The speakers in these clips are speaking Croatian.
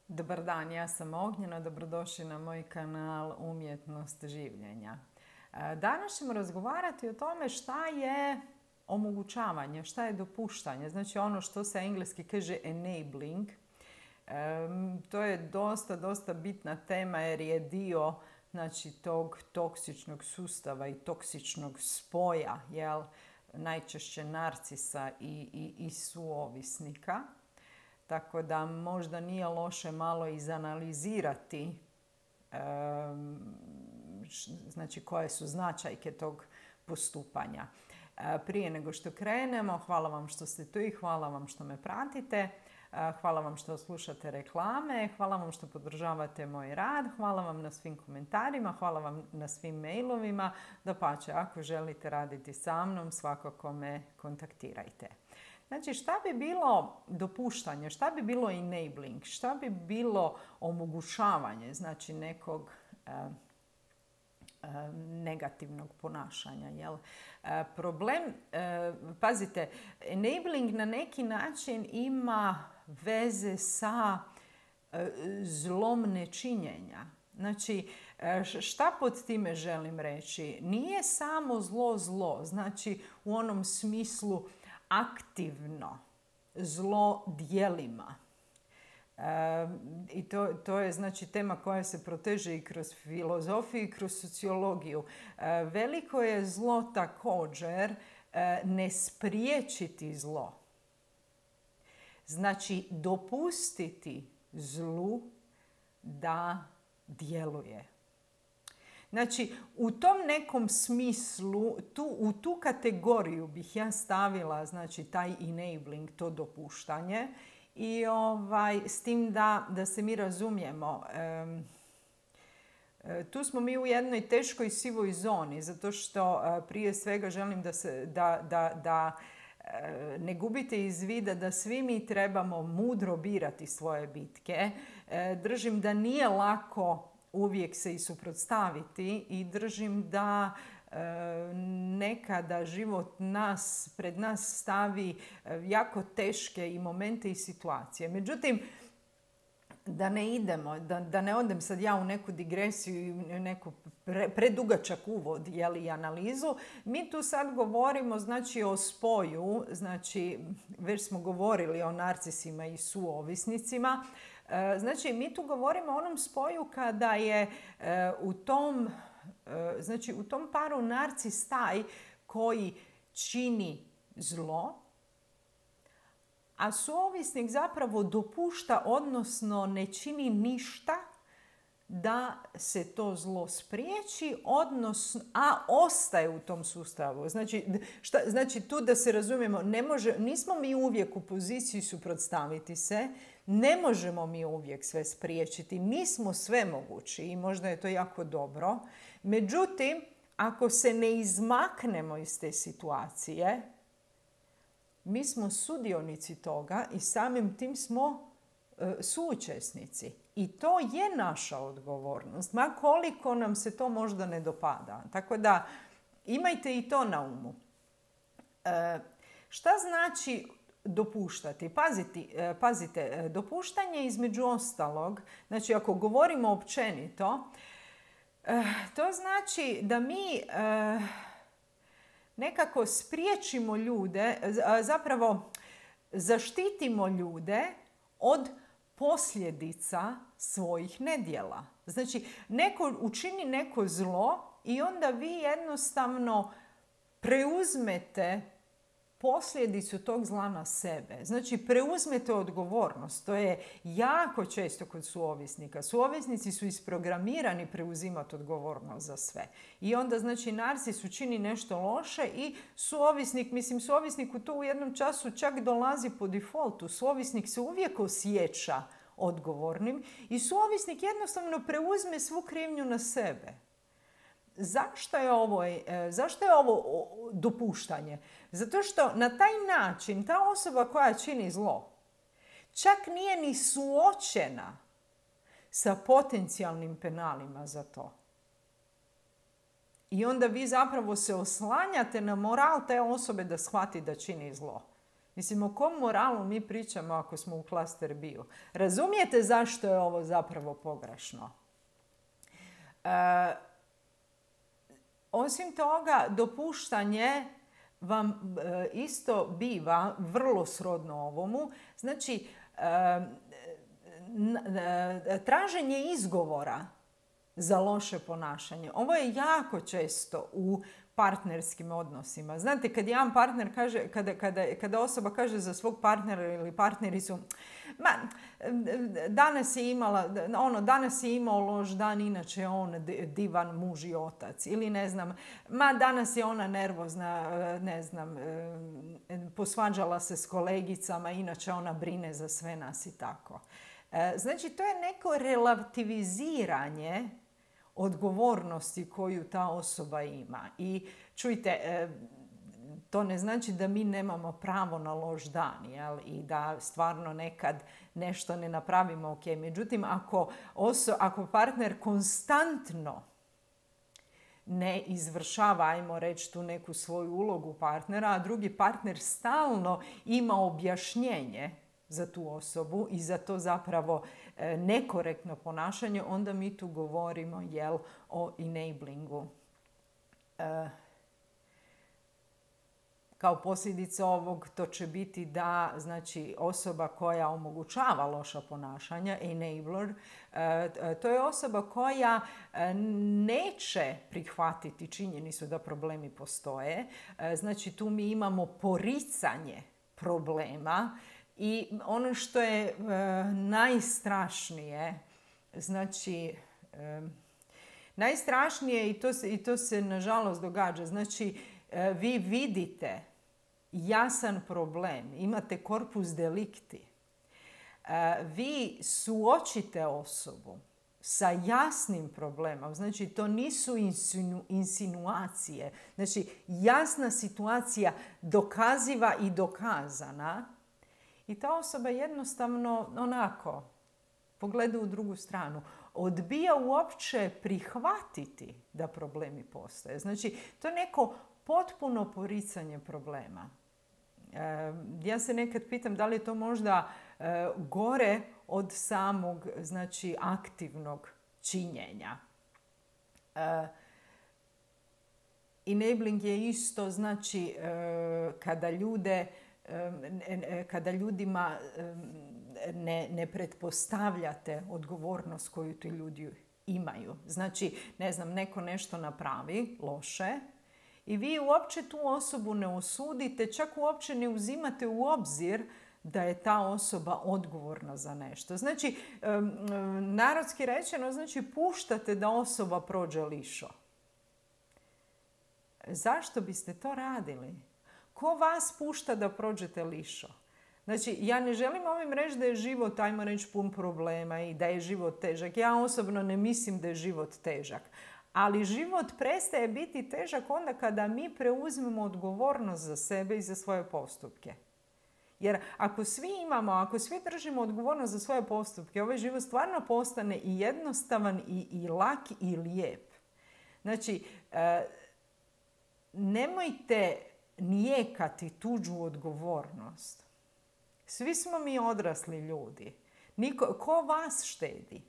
Dobar dan, ja sam Ognjena, dobrodošli na moj kanal Umjetnost življenja. Danas ćemo razgovarati o tome šta je omogućavanje, šta je dopuštanje, znači ono što se engleski kaže enabling. To je dosta bitna tema jer je dio tog toksičnog sustava i toksičnog spoja, najčešće narcisa i suovisnika. Tako da možda nije loše malo izanalizirati koje su značajke tog postupanja. Prije nego što krenemo, hvala vam što ste tu i hvala vam što me pratite. Hvala vam što slušate reklame, hvala vam što podržavate moj rad, hvala vam na svim komentarima, hvala vam na svim mailovima. Dapače, ako želite raditi sa mnom, svakako me kontaktirajte. Znači, šta bi bilo dopuštanje, šta bi bilo enabling, šta bi bilo omogućavanje, znači nekog negativnog ponašanja. Jel? Problem, pazite, enabling na neki način ima veze sa zlom nečinjenja. Znači, šta pod time želim reći? Nije samo zlo, znači u onom smislu aktivno zlo djelima. I to je znači tema koja se proteže i kroz filozofiju i kroz sociologiju. Veliko je zlo također ne spriječiti zlo. Znači dopustiti zlu da djeluje. Znači, u tom nekom smislu, u tu kategoriju bih ja stavila znači, taj enabling, to dopuštanje. I s tim da se mi razumijemo, tu smo mi u jednoj teškoj sivoj zoni, zato što prije svega želim da ne gubite iz vida da svi mi trebamo mudro birati svoje bitke. Držim da nije lako uvijek se i suprotstaviti i držim da nekada život pred nas stavi jako teške i momente i situacije. Međutim, da ne idemo, da ne odem sad ja u neku digresiju i neku predugačak uvod i analizu, mi tu sad govorimo znači o spoju, znači već smo govorili o narcisima i suovisnicima. Znači, mi tu govorimo o onom spoju kada je u tom paru narcis taj koji čini zlo, a suovisnik zapravo dopušta, odnosno ne čini ništa da se to zlo spriječi, a ostaje u tom sustavu. Znači tu da se razumijemo, nismo mi uvijek u poziciji suprotstaviti se, ne možemo mi uvijek sve spriječiti, nismo svemogući i možda je to jako dobro. Međutim, ako se ne izmaknemo iz te situacije, mi smo sudionici toga i samim tim smo suučesnici. I to je naša odgovornost, ma koliko nam se to možda ne dopada. Tako da imajte i to na umu. Šta znači dopuštati? Pazite, dopuštanje između ostalog, znači ako govorimo općenito, to znači da mi nekako spriječimo ljude, zapravo zaštitimo ljude od posljedica svojih nedjela. Znači, neko učini neko zlo i onda vi jednostavno preuzmete posljedicu tog zla na sebe. Znači, preuzmete odgovornost. To je jako često kod suovisnika. Suovisnici su isprogramirani preuzimati odgovornost za sve. I onda, znači, narcis učini nešto loše i suovisniku to u jednom času čak dolazi po defaultu. Suovisnik se uvijek osjeća odgovornim i suovisnik jednostavno preuzme svu krivnju na sebe. Zašto je ovo dopuštanje? Zato što na taj način ta osoba koja čini zlo čak nije ni suočena sa potencijalnim penalima za to. I onda vi zapravo se oslanjate na moral te osobe da shvati da čini zlo. Mislim, o kom moralu mi pričamo ako smo u klaster bio? Razumijete zašto je ovo zapravo pogrešno? Osim toga, dopuštanje vam isto biva vrlo srodno ovomu. Znači, traženje izgovora za loše ponašanje. Ovo je jako često u partnerskim odnosima. Znate, kad jedan partner kaže, kada osoba kaže za svog partnera ili partnericu, danas je imao loš dan, inače je on divan muž i otac. Ili ne znam, danas je ona nervozna, ne znam, posvađala se s kolegicama, inače ona brine za sve nas i tako. Znači, to je neko relativiziranje odgovornosti koju ta osoba ima. I čujte, to ne znači da mi nemamo pravo na loš dan, jel? I da stvarno nekad nešto ne napravimo ok. Međutim, ako partner konstantno ne izvršava, ajmo reći, tu neku svoju ulogu partnera, a drugi partner stalno ima objašnjenje za tu osobu i za to zapravo nekorektno ponašanje, onda mi tu govorimo o enablingu. Kao posljedica ovog to će biti da, znači, osoba koja omogućava loša ponašanja, enabler, to je osoba koja neće prihvatiti činjenicu da problemi postoje. Znači, tu mi imamo poricanje problema. I ono što je najstrašnije, znači, najstrašnije i to se nažalost događa, znači, vi vidite jasan problem, imate corpus delicti, vi suočite osobu sa jasnim problemom, znači to nisu insinuacije, znači jasna situacija dokaziva i dokazana. I ta osoba jednostavno onako pogleda u drugu stranu. Odbija uopće prihvatiti da problemi postoje. Znači, to je neko potpuno poricanje problema. Ja se nekad pitam da li je to možda gore od samog, znači, aktivnog činjenja. Enabling je isto, znači, kada ljudima ne pretpostavljate odgovornost koju ti ljudi imaju. Znači, ne znam, neko nešto napravi loše i vi uopće tu osobu ne osudite, čak uopće ne uzimate u obzir da je ta osoba odgovorna za nešto. Znači, narodski rečeno, znači, puštate da osoba prođe lišo. Zašto biste to radili? Ko vas pušta da prođete lišo? Znači, ja ne želim ovim reći da je život, ajmo reći, pun problema i da je život težak. Ja osobno ne mislim da je život težak. Ali život prestaje biti težak onda kada mi preuzmemo odgovornost za sebe i za svoje postupke. Jer ako svi držimo odgovornost za svoje postupke, ovaj život stvarno postane i jednostavan i lak i lijep. Znači, nemojte nijekati tuđu odgovornost. Svi smo mi odrasli ljudi. Ko vas štedi?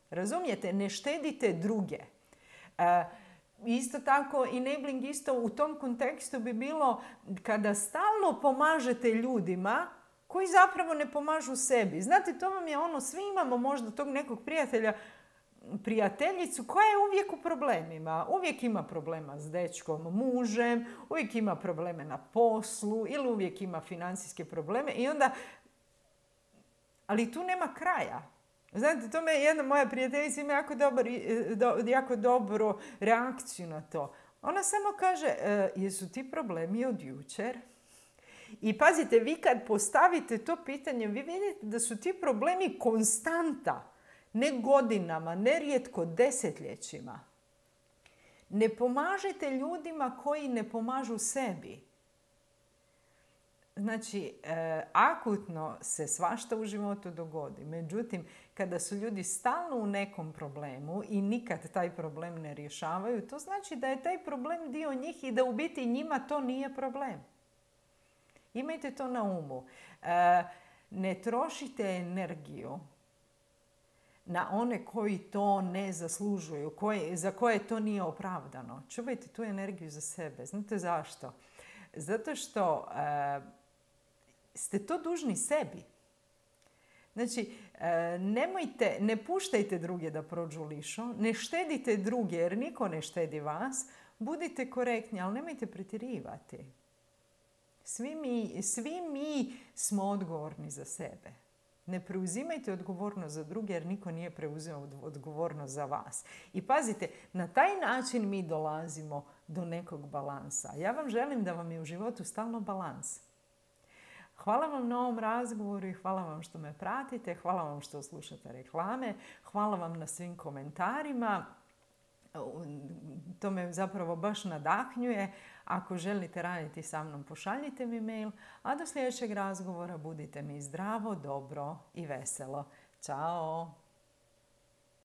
Razumijete? Ne štedite druge. Isto tako, enabling isto u tom kontekstu bi bilo kada stalno pomažete ljudima koji zapravo ne pomažu sebi. Znate, to vam je ono, svi imamo možda tog nekog prijateljicu koja je uvijek u problemima. Uvijek ima problema s dečkom, mužem, uvijek ima probleme na poslu ili uvijek ima financijske probleme i onda, ali tu nema kraja. Znate, to me jedna moja prijateljica ima jako dobru reakciju na to. Ona samo kaže, jesu ti problemi od jučer? I pazite, vi kad postavite to pitanje, vi vidite da su ti problemi konstanta. Ne godinama, ne rijetko desetljećima. Ne pomažete ljudima koji ne pomažu sebi. Znači, akutno se svašta u životu dogodi. Međutim, kada su ljudi stalno u nekom problemu i nikad taj problem ne rješavaju, to znači da je taj problem dio njih i da u biti njima to nije problem. Imajte to na umu. Ne trošite energiju na one koji to ne zaslužuju, za koje to nije opravdano. Čuvajte tu energiju za sebe. Znate zašto? Zato što ste to dužni sebi. Znači, ne puštajte druge da prođu lišo, ne štedite druge jer niko ne štedi vas, budite korektni, ali nemojte pretjerivati. Svi mi smo odgovorni za sebe. Ne preuzimajte odgovornost za druge jer niko nije preuzeo odgovornost za vas. I pazite, na taj način mi dolazimo do nekog balansa. Ja vam želim da vam je u životu stalno balans. Hvala vam na ovom razgovoru i hvala vam što me pratite, hvala vam što slušate reklame, hvala vam na svim komentarima. To me zapravo baš nadahnjuje. Ako želite raditi sa mnom, pošaljite mi mail, a do sljedećeg razgovora budite mi zdravo, dobro i veselo. Ćao!